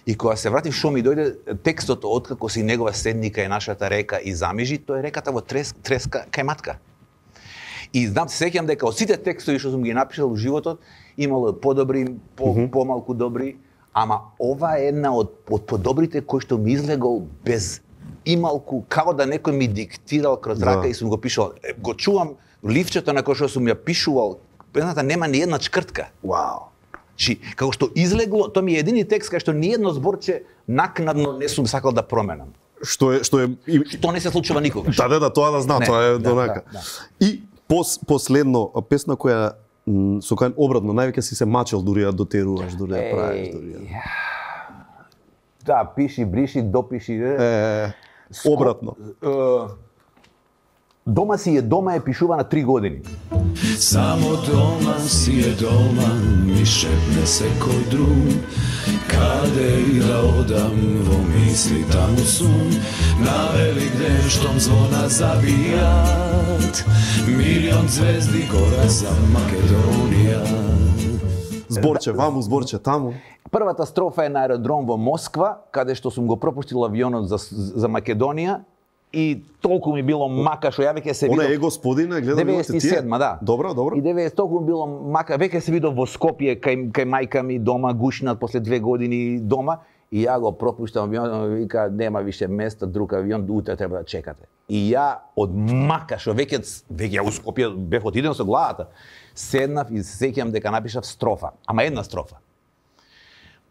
И кога се вратив, шо ми дојде текстот откако си негова седника е нашата река и замижи, тоа е реката во Трес, Треска кај матка. И знам, се сеќам дека од сите текстови што сум ги напишал во животот, имало подобри, по, mm -hmm. помалку добри, ама ова е една од, од подобрите кои што ми излегол без ималку, као да некој ми диктирал кроз рака да. И сум го пишал. Го чувам ливчето на кој што сум ја пишувал, песната нема ни една чкртка. Вау. Чи, како што излегло, тоа ми е едини текст кај што ни едно зборче накнадно не сум сакал да променам. Што е што е и... Што не се случува никогаш. Да, да, да, тоа да знам, Не, тоа е да, донака. да, да. И пос, последно песна која м, со која обратно највеќе си се мачел дури ја дотеруваш, дури ја правиш, дури ја. Да, пиши, бриши, допиши. Е, обратно. Е, дома си е дома е пишува на три години. Само дома си е дома, ми шепне секој друг. Каде и да одам, во мисли таму сум. На велик ден штом звона забијат, милион звезди гора за Македонија. Зборче ваму, зборче таму. Првата строфа е на аеродром во Москва, каде што сум го пропуштил авионот за, за Македонија и толку ми било мака што ја веќе се видов. Она е господина, гледам деветдесет и седма, да. Добро, добро. И деветдесет толку ми било мака, веќе се видов во Скопје кај кај мајка ми дома гушнат после две години дома и ја го пропуштам авионот, вика нема више место, друг авион, утре треба да чекате. И ја од мака што веќе веќе у Скопје бев отиден со главата. Седнав и се сеќам дека напишав строфа, ама една строфа.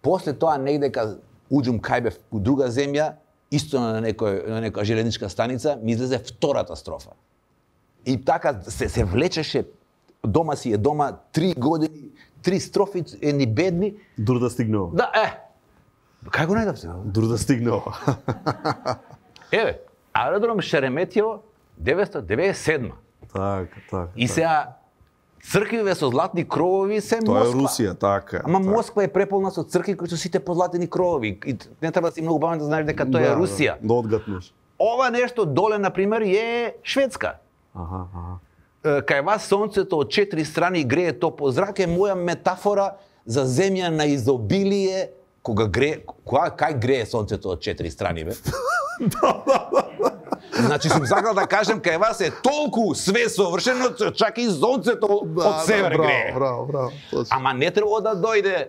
После тоа негде кога уđум кај бев у друга земја, исто на некој на некоја железничка станица, ми излезе втората строфа. И така се се влечеше, дома си е дома, три години, три строфи едни бедни. Дур да стигнува. Да, е. Кај го најдовте? Дури да стигне ова. Еве, аеродром Шереметиево деветстотини деветдесет и седма. Така, така. И сега црквиве со златни кровови се Тоа Москва. е Русија, така. Ама така. Москва е преполна со цркви кои се сите позлатени кровови. И не треба да си многу паметен да знаеш дека тоа е Русија. Да, да одгатнеш. Ова нешто доле, например, е Шведска. Аха, аха. Кај вас сонцето од четири страни грее топол зрак е моја метафора за земја на изобилие, кога грее, кога кај грее сонцето од четири страни, бе? Значи сум сакал да кажем кај вас е толку све совршено, чак и сонцето од север да, грее. Браво, браво, точно. Ама не треба да дојде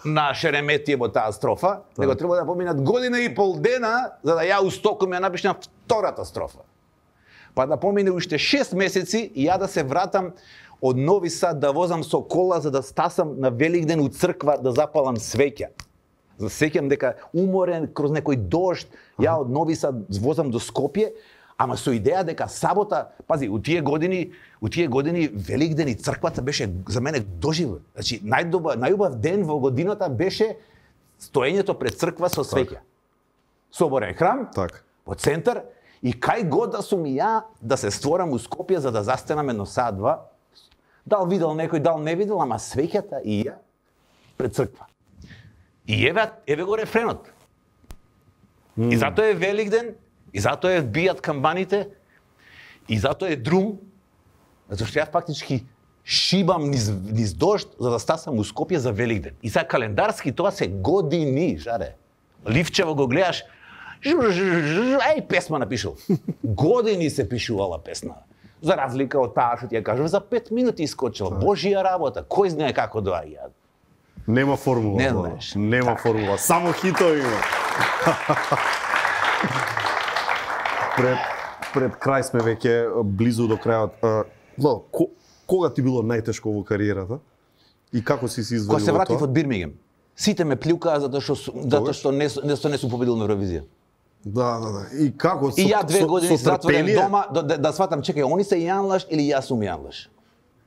на Шереметиево таа строфа, него треба да поминат година и пол дена за да ја устокам ја напишам втората строфа. Па да помине уште шест месеци и ја да се вратам од Нови Сад да возам со кола за да стасам на Великден у црква да запалам свеќа. За сеќам дека уморен кроз некој дожд, ја од Нови Сад возам до Скопје, ама со идеја дека сабота, пази, у тие години, у тие години Великден и црквата беше за мене доживот. Значи најдобар, најубав ден во годината беше стоењето пред црква со свеќа. Соборен храм, Так. во центар, и кај god да сум ја да се створам у Скопје за да застенам едно сат два, дал видел некој, дал не видел, ама свеќата и ја пред црква. И еве, еве го рефренот. Mm. И затоа е Великден, и затоа е бијат камбаните, и затоа е друм, затоа што ја фактички шибам низ, низ дожд за да стасам у Скопје за Великден. И сега календарски тоа се години, жаре. Ливчево го гледаш, ај песма напишал. Години се пишувала песна. За разлика од таа што ти ја кажав, за пет минути искочила. Божија работа, кој знае како доаѓа. Нема формула. Не тоа. знаеш. Нема Така. формула. Само хитови има. пред пред крај сме веќе близу до крајот. Владо, ко, кога ти било најтешко во кариерата? И како си се извадил Кога се од вратив тоа? од Бирмингем, сите ме плюкаа затоа што су- затоа што не не, не сум победил на Евровизија. Да, да, да. И како И ја две со, години со затворен трпение? дома да, да, да сватам, чекај, они се јанлаш или јас сум јанлаш.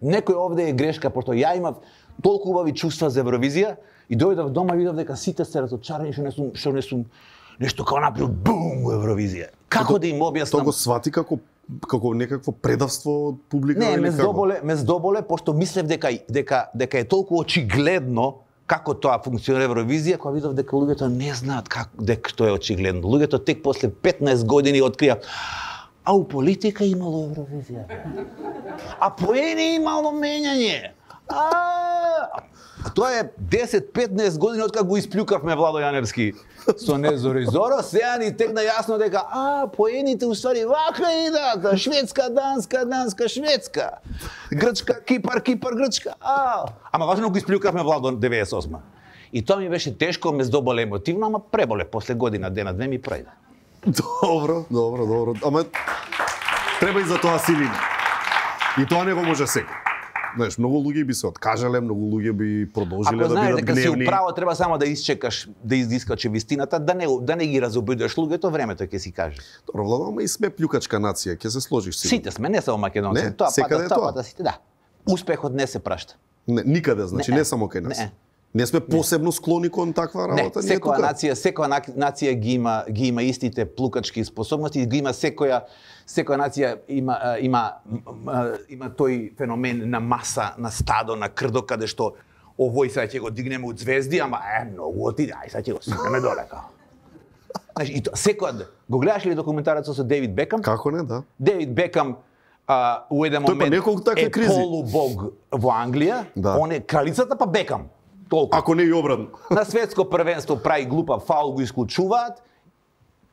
Некој овде е грешка, пошто ја имав толку убави чувства за Евровизија и дојдов дома и видов дека сите се разочарани што не сум што не сум нешто како направил бум Евровизија. Како да им Тоа објаснам? го свати како како некакво предавство од публика Не, или ме како? здоболе, ме здоболе пошто мислев дека дека дека е толку очигледно како тоа функционира Евровизија, кога видов дека луѓето не знаат како дека тоа е очигледно. Луѓето тек после петнаесет години открија а у политика имало Евровизија. А поени имало менјање. А, а тоа е десет петнаесет години откако го исплюкавме Владо Јаневски со Незори Зоро, сега ни текна јасно дека а поените уствари вака идат, Шведска, Данска, Данска, Шведска. Грчка, Кипар, Кипар, Грчка. А, ама важно го исплюкавме Владо деветдесет и осма. И тоа ми беше тешко, ме здоболе емотивно, ама преболе после година, дена, две ми пројде. Добро, добро, добро. Ама треба и за тоа силина. И тоа не го може секој. Знаеш, многу луѓе би се откажале, многу луѓе би продолжиле Ако да знаеш бидат дека си гневни. управо, треба само да исчекаш да издискачи вистината, да не да не ги разобидеш луѓето, времето ќе си каже. Добро, Владо, ама и сме плюкачка нација, ќе се сложиш сигурно. Сите сме, не само македонци. Не, Тоа секаде пада, е тоа тоа. пада сите, да. Успехот не се прашта. Не, никаде, значи не, Не. не само кај нас. Не. Не сме посебно склони кон таква Не, работа, ние секоја тука. нација, секоја на- нација ги има ги има истите плукачки способности, ги има секоја секоја нација има а, има м, има тој феномен на маса, на стадо, на крдо каде што овој сега ќе го дигнеме од звезди, ама е многу отиде, ај сега ќе го сипеме доле као. Значи, и тоа, секоја, го гледаш ли документарецот со Дейвид Бекам? Како не, да. Дейвид Бекам а, у еден Тој па момент неколку такви е кризи. полубог во Англија, Да. он е кралицата па Бекам. Толку. Ако не и обратно. На светско првенство прави глупав фаул, го исклучуваат.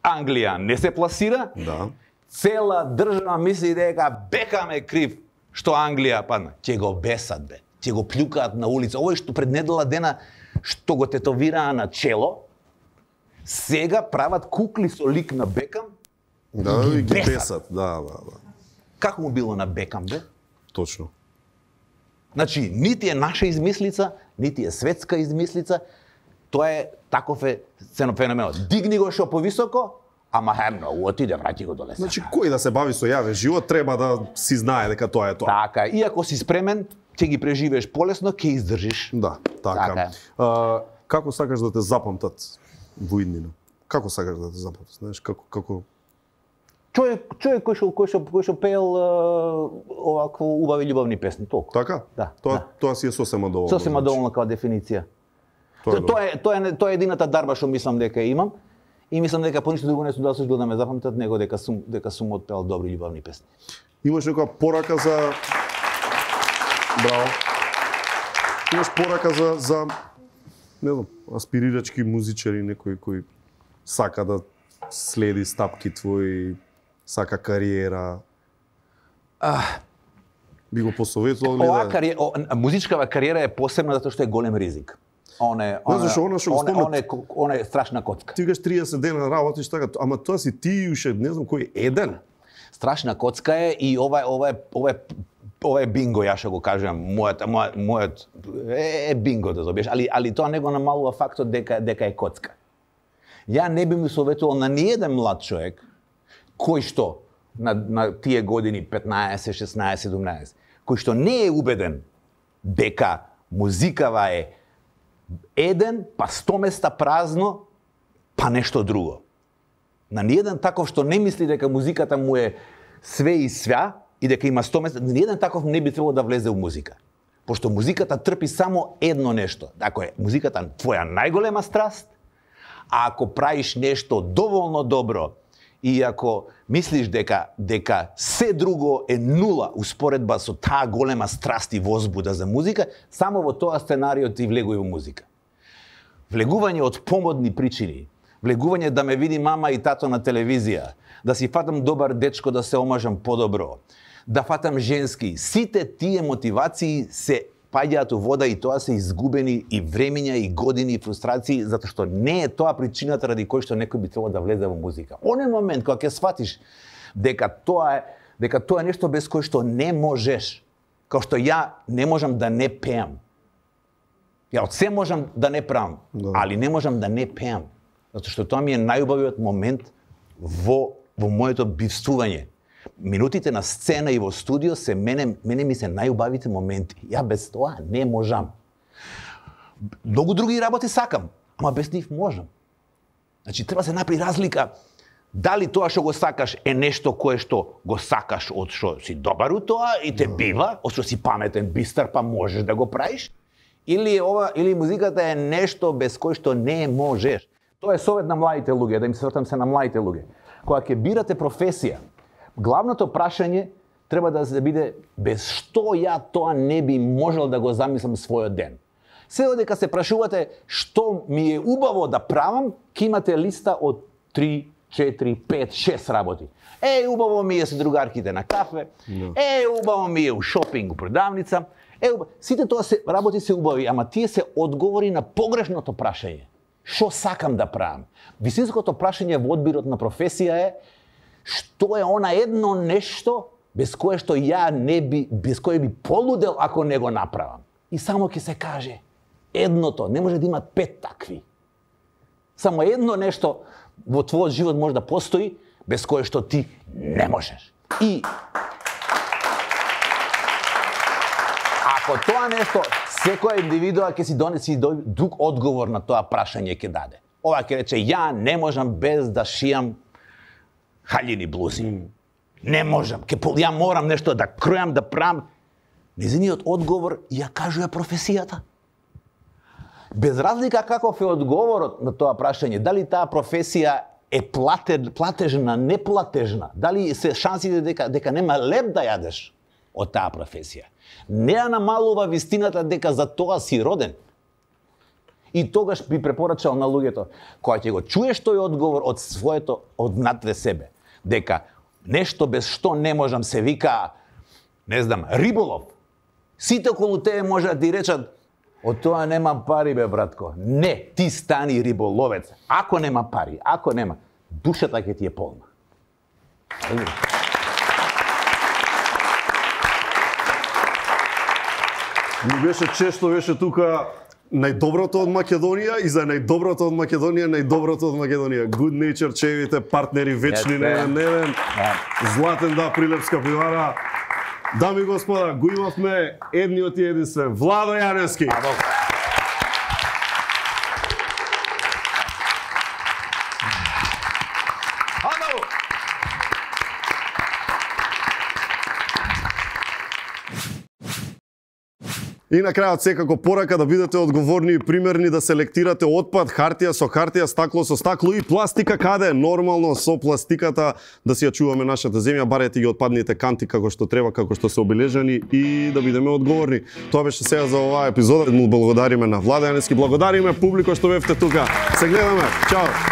Англија не се пласира. Да. Цела држава мисли дека Бекам е крив што Англија падна. Ќе го бесат, бе. Ќе го плюкаат на улица. Овој што пред недела дена што го тетовираа на чело, сега прават кукли со лик на Бекам. Да, ги и ги бесат. бесат. Да, да, да. Како му било на Бекам, бе? Точно. Значи, нити е наша измислица, нити е светска измислица, тоа е таков е феноменот. Дигни го шо повисоко, ама хе многу отиде, врати го доле. Значи, кој да се бави со јавен живот, треба да си знае дека тоа е тоа. Така, и ако си спремен, ќе ги преживееш полесно, ќе издржиш. Да, така. Така е. А, како сакаш да те запамтат во иднина? Како сакаш да те запомниш, знаеш, како како Човек, човек кој што кој што кој што пеел овакво убави љубавни песни, толку. Така? Да. Тоа да. тоа си е сосема доволно. Сосема доволно како дефиниција. Тоа, тоа е тоа е тоа е едината дарба што мислам дека имам и мислам дека по ништо друго не сум да се да ме запамтат него дека сум дека сум отпеал добри љубавни песни. Имаш некоја порака за Браво. Имаш порака за за не знам, аспирирачки музичари, некој кој сака да следи стапки твои, сака кариера. А, би го посоветувал ли Ова да... кариера, о, музичкава кариера е посебна затоа што е голем ризик. Он е, он, Не, зашо она што го он, спомнат. он, е, он е страшна коцка. Ти кажеш триесет дена работиш така, ама тоа си ти уште не знам кој еден. Страшна коцка е и ова ова е ова е ова е бинго, ја што го кажам, мојот мојот мојот е, е бинго да добиеш, али али тоа не го намалува фактот дека дека е коцка. Ја не би му советувал на ниеден млад човек кој што на на тие години петнаесет, шеснаесет, седумнаесет, кој што не е убеден дека музикава е еден, па сто места празно, па нешто друго. На ниеден таков што не мисли дека музиката му е све и свја и дека има сто места, ниеден таков не би требало да влезе у музика. Пошто музиката трпи само едно нешто. Ако е музиката твоја најголема страст, а ако правиш нешто доволно добро и ако мислиш дека дека се друго е нула успоредба со таа голема страст и возбуда за музика, само во тоа сценарио ти влегува во музика. Влегување од помодни причини, влегување да ме види мама и тато на телевизија, да си фатам добар дечко да се омажам подобро, да фатам женски, сите тие мотивации се паѓаат у вода и тоа се изгубени и времења и години и фрустрации, затоа што не е тоа причината ради кој што некој би требало да влезе во музика. Онен момент кога ќе сватиш дека тоа е дека тоа е нешто без кој што не можеш, како што ја не можам да не пеам. Ја од се можам да не правам, да. Али не можам да не пеам, затоа што тоа ми е најубавиот момент во во моето бивствување. Минутите на сцена и во студио се мене мене ми се најубавите моменти. Ја без тоа не можам. Многу други работи сакам, ама без нив можам. Значи треба се направи разлика дали тоа што го сакаш е нешто кое што го сакаш од што си добар у тоа и те бива, од што си паметен, бистар, па можеш да го правиш, или ова или музиката е нешто без кој што не можеш. Тоа е совет на младите луѓе, да им се вртам се на младите луѓе. Кога ќе бирате професија, главното прашање треба да се биде без што ја тоа не би можел да го замислам својот ден. Сега дека се прашувате што ми е убаво да правам, ќе имате листа од три, четири, пет, шест работи. Е, убаво ми е со другарките на кафе, no. Е, убаво ми е у шопинг, у продавница. Е, убаво. Сите тоа се работи се убави, ама тие се одговори на погрешното прашање. Што сакам да правам? Висинското прашање во одбирот на професија е што е она едно нешто без кое што ја не би, без кое би полудел ако не го направам. И само ќе се каже едното, не може да има пет такви. Само едно нешто во твојот живот може да постои без кое што ти не можеш. И ако тоа нешто, секоја индивидуа ќе си донеси друг одговор на тоа прашање ќе даде. Ова ќе рече, ја не можам без да шијам хаљини блузи. Mm. Не можам, ке, ја морам нешто да кројам, да правам. Незиниот одговор ја кажува професијата. Без разлика каков е одговорот на тоа прашање, дали таа професија е платеж, платежна, неплатежна, дали се шансите дека, дека нема леп да јадеш од таа професија. Не ја намалува вистината дека за тоа си роден. И тогаш би препорачал на луѓето, кога ќе го чуеш тој одговор од своето, од внатре себе, дека нешто без што не можам се вика, не знам, риболов. Сите околу тебе може да ти речат, од тоа немам пари, бе, братко. Не, ти стани риболовец. Ако нема пари, ако нема, душата ќе ти е полна. Ми беше чест што беше тука најдоброто од Македонија и за најдоброто од Македонија, најдоброто од Македонија. Good Nature, чевите партнери вечни, Невен Невен, Златен да, Прилепска пивара. Дами и господа, го имавме едниот и единствен Владо Јаневски. И на крајот секако порака да бидете одговорни и примерни, да селектирате отпад, хартија со хартија, стакло со стакло и пластика каде е нормално со пластиката, да си ја чуваме нашата земја, барете ги отпадните канти како што треба, како што се обележани и да бидеме одговорни. Тоа беше сега за оваа епизода. Му благодариме на Владе Јаневски, благодариме публико што бевте тука. Се гледаме. Чао.